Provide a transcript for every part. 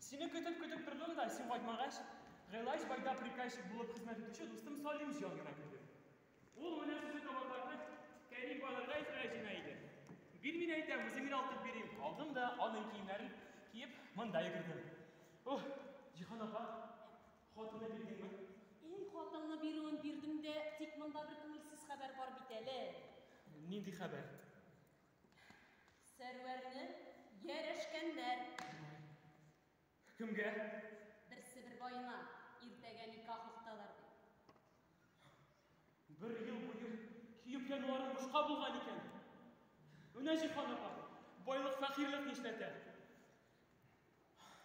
Сине көтеп-көтеп тордым да, син кайтмагач, Гыйлаҗ байда приказчик булып хезмәт итүче дустым Салимҗан гына керде. Ул менә шушы товарларны Кәрим байларга илтергә җыена иде. Бир, мин әйтәм, үзем генә алтып бирим. Алдым да аның киемнәрен киеп, монда йөгердем. Ух, Җиһан апа, хатыны бирдеңме? Әй, хатыңны бирүен бирдем дә, тик монда бер күңелсез хәбәр бар бит әле. Нинди хәбәр? Сәрвәрне ярәшкәннәр. Кемгә? Бер Себер баена, иртәгә никах укыталар, ди. Бер ел буе көеп януларым бушка булган икән. Менә, Җиһан апа, байлык фәкыйрьлек нишләтә.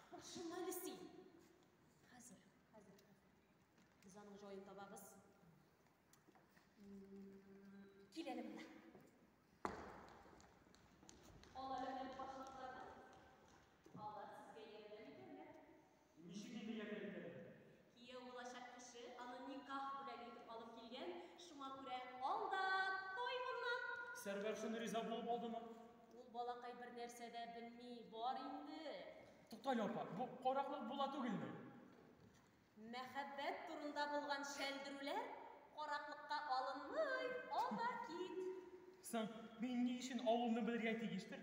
Борчылма әле син. Хәзер, хәзер, хәзер. Без аның җаен табабыз. Кил әле монда. Ал әле менә бу башлыкларны. Алар сезгә ярдәм итәрләр. Ничек инде ярдәм итәрләр? Кияү булачак кеше аны никах бүләге итеп алып килгән, шуңа күрә ал да тай моннан. Сәрвәр шуны риза булып алдымы? Ул балакай бернәрсә дә белми, бар инде. Туктале, апа, бу караклык була түгелме? Мәхәббәт турында булган шәлдерүләр караклыкка алынмый, ал да кит. Соң, мин ни өчен авылны белергә тиештер?